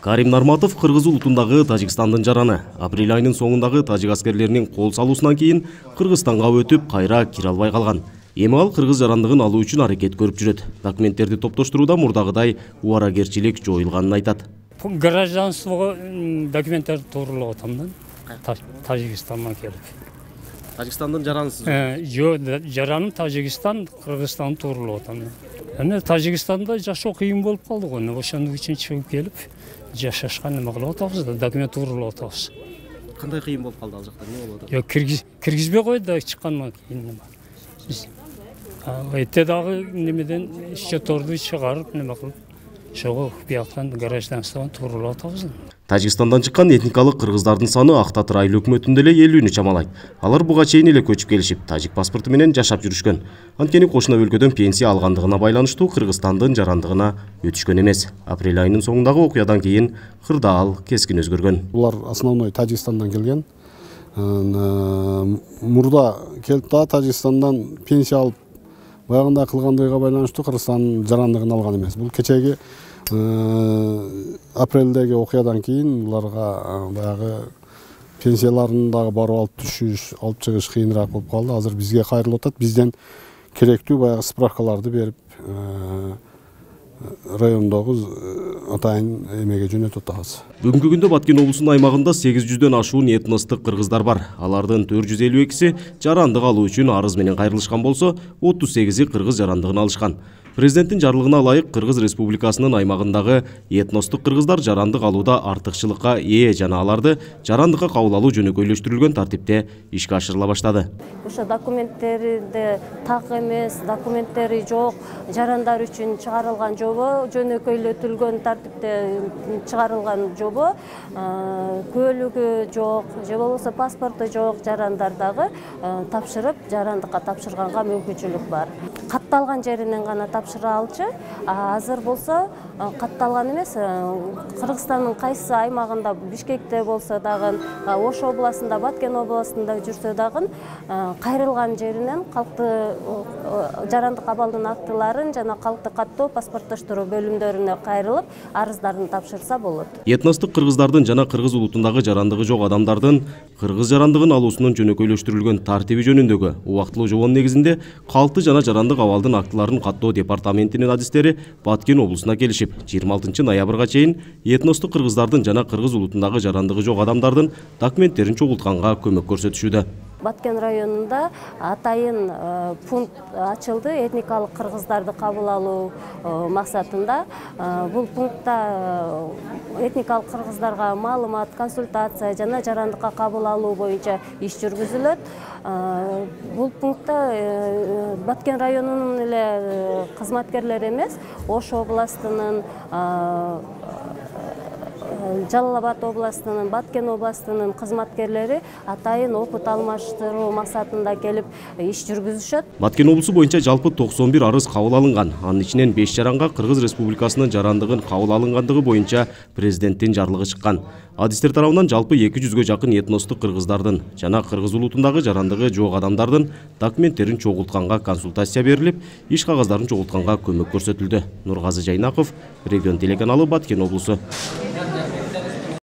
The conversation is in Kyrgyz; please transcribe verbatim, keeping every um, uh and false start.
Карим Нарматов кыргыз улутундагы Тажикстандын жараны. Апрель айынын соңундагы тажик аскерлеринин кол салуусунан кийин Кыргызстанга өтүп, кайра кире албай калган. Эми ал кыргыз жарандыгын алуу үчүн аракет көрүп жүрөт. Документтерди топтоштурууда мурдагыдай убаракерчилик жоюлганын айтат. Гражданствого документтерди тууралап атам да. Тажикстандан келип. Тажикстандын жаранысыз? Жок, жараным Тажикстан, Кыргызстан тууралап атам. Эми Тажикстанда жашоо кыйын болуп калды го. Ошондук үчүн чыгып келип, жашашка неме кылып атабыз да, документ тууралап атабыз. Кандай кыйын болуп калды ал жакта? Эмне болуп атат? Жок, киргизбей койду да чыккандан кийин неме. Эте дагы немеден счетторду чыгарып неме кылып, ошого бияктан гражданстводан тууралап атабыз. Тажикстандан чыккан этникалык кыргыздардын саны Ак Татыр айыл өкмөтүндө эле элүүнү чамалайт. Алар буга чейин эле көчүп келишип, тажик паспорту менен жашап жүрүшкөн. Анткени кошуна өлкөдөн пенсия алгандыгына байланыштуу Кыргызстандын жарандыгына өтүшкөн эмес. Апрель айынын соңундагы окуядан кийин кырдаал кескин өзгөргөн. Булар основной Тажикстандан келген. Мурда келип да Тажикстандан пенсия алып, баягында кылгандыгына байланыштуу Кыргызстандын жарандыгын алган эмес. Бул кечеги апрелдеги окуядан кийин буларга баягы пенсияларын дагы барып алып түшүш, алып чыгыш кыйыныраак болуп калды. Азыр бизге кайрылып атат. Бизден керектүү баягы справкаларды берип, райондогу атайын эмеге жөнөтүп атабыз. Бүгүнкү күндө Баткен облусунун аймагында сегиз жүздөн ашуун этностук кыргыздар бар. Алардын төрт жүз элүү экиси жарандык алуу үчүн арыз менен кайрылышкан болсо, отуз сегизи кыргыз жарандыгын алышкан. Президенттин жарлыгына ылайык Кыргыз Республикасынын аймагындагы этностук кыргыздар жарандык алууда артыкчылыкка ээ жана аларды жарандыкка кабыл алуу жөнөкөйлөштүрүлгөн тартипте ишке ашырыла баштады. Ошо документтерде так эмес, документтери жок жарандар үчүн чыгарылган жобо, жөнөкөйлөтүлгөн тартипте чыгарылган жобо, көлүгү жок, же болбосо паспорту жок жарандар дагы тапшырып, жарандыкка тапшырганга мүмкүнчүлүк бар. Катталган жеринен гана тапшыра алчу. Азыр болсо катталган эмес. Кыргызстандын кайсы аймагында, Бишкекте болсо дагы, Ош областында, Баткен областында жүрсө дагы кайрылган жеринен калкты жарандык абалдын актыларын жана калкты каттоо паспорттоштуруу бөлүмдөрүнө кайрылып, арыздарын тапшырса болот. Этностук кыргыздардын жана кыргыз улутундагы жарандыгы жок адамдардын кыргыз жарандыгын алуусунун жөнөкөйлөштүрүлгөн тартиби жөнүндөгү убактылуу жобонун негизинде калкты жана жарандык абалдын актыларын каттоо департаментинин адистери Баткен облусуна келишип, жыйырма алтынчы ноябрга чейин этностук кыргыздардын жана кыргыз улутундагы жарандыгы жок адамдардын документтерин чогултканга көмөк көрсөтүшүүдө. Баткен районунда атайын пункт ачылды этникалык кыргыздарды кабыл алуу максатында. Бул пунктта этникалык кыргыздарга маалымат, консультация жана жарандыкка кабыл алуу боюнча иш жүргүзүлөт. Бул пунктта Баткен районунун эле кызматкерлери эмес, Ош областынын, Жалал Абад областынын, Баткен областынын кызматкерлери атайын опыт алмаштыруу максатында келип иш жүргүзүшөт. Баткен облусу боюнча жалпы токсон бир арыз кабыл алынган. Анын ичинен беш жаранга Кыргыз Республикасынын жарандыгын кабыл алынгандыгы боюнча президенттин жарлыгы чыккан. Адистер тарабынан жалпы эки жүзгө жакын этностук кыргыздардын жана кыргыз улутундагы жарандыгы жок адамдардын документтерин чогултканга консультация берилип, иш кагаздарын чогултканга көмөк көрсөтүлдү. Нургазы Жайнаков, Регион телеканалы, Баткен облусу.